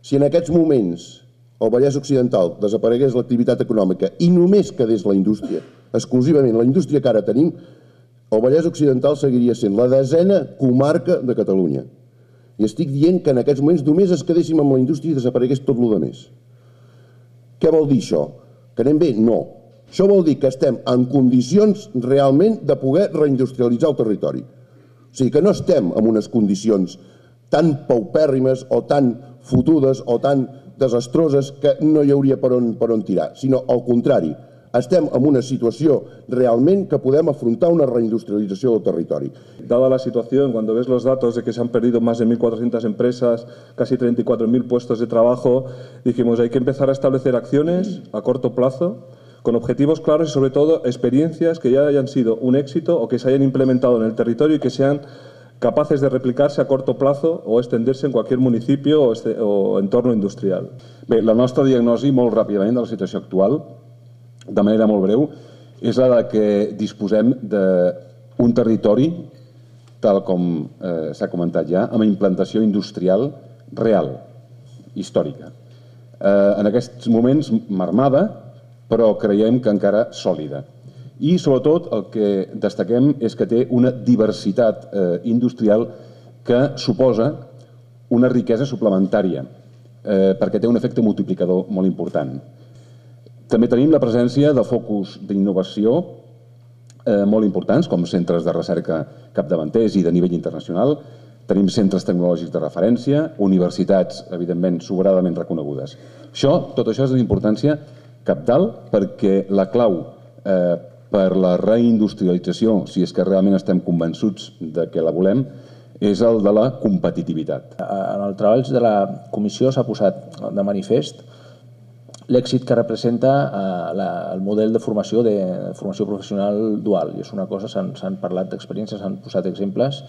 Si en aquests moments al Vallès Occidental desaparegués l'activitat econòmica i només quedés la indústria, exclusivament la indústria que ara tenim, el Vallès Occidental seguiria sent la 10a comarca de Catalunya. I estic dient que en aquests moments només es quedéssim amb la indústria i desaparegués tot el més. Què vol dir això? Que anem bé? No. Això vol dir que estem en condicions realment de poder reindustrialitzar el territori. O sigui que no estem en unes condicions tan paupèrrimes o tan fotudes o tan desastroses que no hi hauria per on tirar, sinó al contrari. Estem en una situació realment que podem afrontar una reindustrialització del territori. Dada la situación, cuando ves los datos de que se han perdido más de 1.400 empresas, casi 34.000 puestos de trabajo, dijimos hay que empezar a establecer acciones a corto plazo, con objetivos claros y sobre todo experiencias que ya hayan sido un éxito o que se hayan implementado en el territorio y que sean capaces de replicarse a corto plazo o extenderse en cualquier municipio o entorno industrial. Bé, la nostra diagnosi, molt ràpidament, de la situació actual, de manera molt breu, és la de que disposem d'un territori, tal com s'ha comentat ja, amb implantació industrial real, històrica. En aquests moments marmada, però creiem que encara sòlida. I, sobretot, el que destaquem és que té una diversitat industrial que suposa una riquesa suplementària, perquè té un efecte multiplicador molt important. També tenim la presència de focus d'innovació molt importants, com centres de recerca capdavanters i de nivell internacional. Tenim centres tecnològics de referència, universitats, evidentment, sobradament reconegudes. Tot això és d'una importància cabdal perquè la clau per la reindustrialització, si és que realment estem convençuts de que la volem, és el de la competitivitat. En el treball de la comissió s'ha posat de manifest l'èxit que representa el model de formació professional dual. I és una cosa, s'han parlat d'experiències, s'han posat exemples,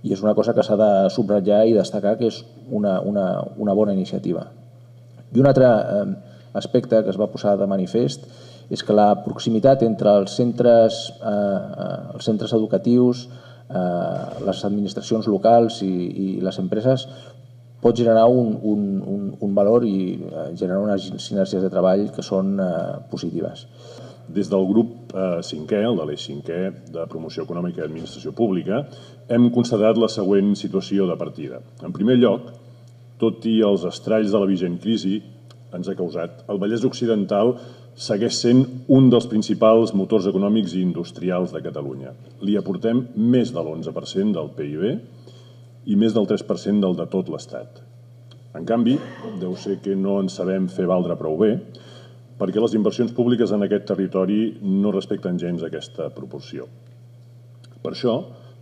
i és una cosa que s'ha de subratllar i destacar que és una bona iniciativa. I un altre aspecte que es va posar de manifest és que la proximitat entre els centres educatius, les administracions locals i les empreses pot generar un valor i generar unes sinergies de treball que són positives. Des del grup 5è, el de l'eix 5è de Promoció Econòmica i Administració Pública, hem constatat la següent situació de partida. En primer lloc, tot i els estralls de la vigent crisi ens ha causat, el Vallès Occidental segueix sent un dels principals motors econòmics i industrials de Catalunya. Li aportem més de l'11% del PIB i més del 3% del de tot l'Estat. En canvi, deu ser que no en sabem fer valdre prou bé, perquè les inversions públiques en aquest territori no respecten gens aquesta proporció. Per això,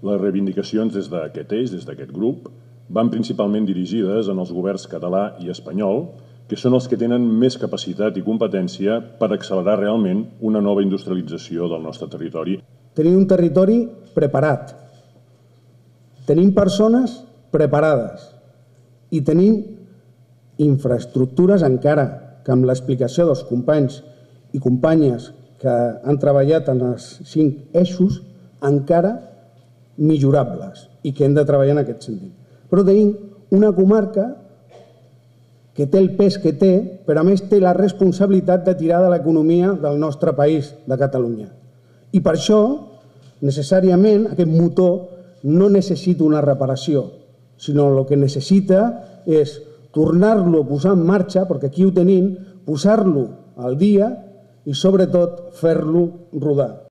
les reivindicacions des d'aquest eix, des d'aquest grup, van principalment dirigides en els governs català i espanyol, que són els que tenen més capacitat i competència per accelerar realment una nova industrialització del nostre territori. Tenim un territori preparat, tenim persones preparades i tenim infraestructures encara que amb l'explicació dels companys i companyes que han treballat en els 5 eixos encara millorables i que hem de treballar en aquest sentit. Però tenim una comarca que té el pes que té, però a més té la responsabilitat de tirar de l'economia del nostre país, de Catalunya. I per això, necessàriament, aquest motor no necessita una reparació, sinó el que necessita és tornar-lo a posar en marxa, perquè aquí ho tenim, posar-lo al dia i, sobretot, fer-lo rodar.